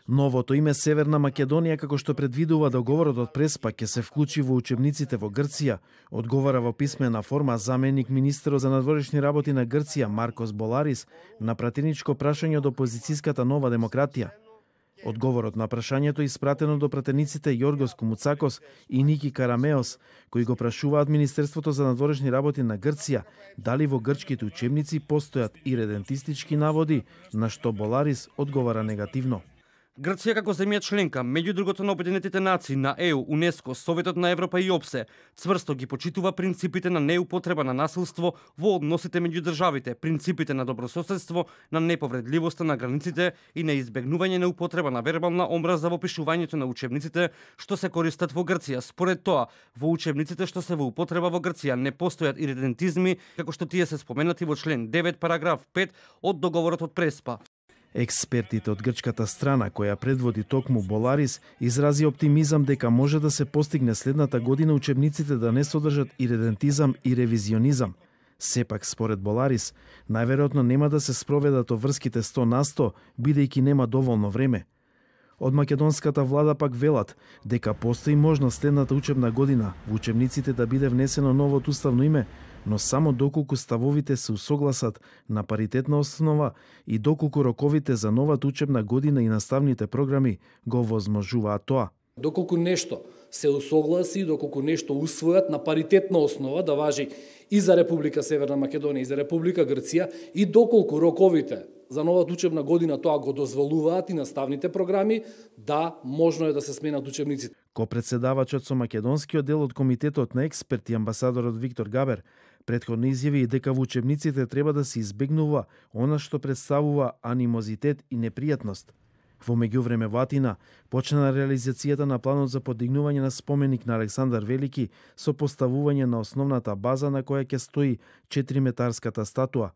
Новото име Северна Македонија, како што предвидува договорот од Преспа, ќе се вклучи во учебниците во Грција, одговара во писмена форма заменик министерот за надворешни работи на Грција Маркос Боларис на пратеничко прашање од опозицијската Нова демократија. Одговорот на прашањето е испратено до пратениците Јоргос Кумуцакос и Ники Карамеос, кои го прашуваат Министерството за надворешни работи на Грција дали во грчките учебници постојат иредентистички наводи, на што Боларис одговара негативно. Грција како земја членка, меѓу другото на Обединетите нации, на ЕУ, УНЕСКО, Советот на Европа и ОПСЕ, цврсто ги почитува принципите на неупотреба на насилство во односите меѓу државите, принципите на добрососедство, на неповредливоста на границите и на избегнување на употреба на вербална омраза во пишувањето на учебниците што се користат во Грција. Според тоа, во учебниците што се во употреба во Грција не постојат иредентизми, како што тие се споменати во член 9 параграф 5 од договорот од Преспа. Експертите од грчката страна, која предводи токму Боларис, изрази оптимизам дека може да се постигне следната година учебниците да не содржат иредентизам и ревизионизам. Сепак, според Боларис, најверојатно нема да се спроведат врските 100%, бидејќи нема доволно време. Од македонската влада пак велат дека постои можност следната учебна година во учебниците да биде внесено новото уставно име, но само доколку ставовите се усогласат на паритетна основа и доколку роковите за новата учебна година и наставните програми го возможуваат тоа. Доколку нешто се усогласи, доколку нешто усвојат на паритетна основа да важи и за Република Северна Македонија и за Република Грција, и доколку роковите за новата учебна година тоа го дозволуваат и наставните програми, да, можно е да се сменат учебниците. Ко-председавачот со македонскиот дел од комитетот на експерти амбасадорот Виктор Габер претходно изјави и дека во учебниците треба да се избегнува она што представува анимозитет и непријатност. Во меѓувреме во Атина почна реализацијата на планот за подигнување на споменик на Александар Велики со поставување на основната база на која ќе стои 4-метарската статуа.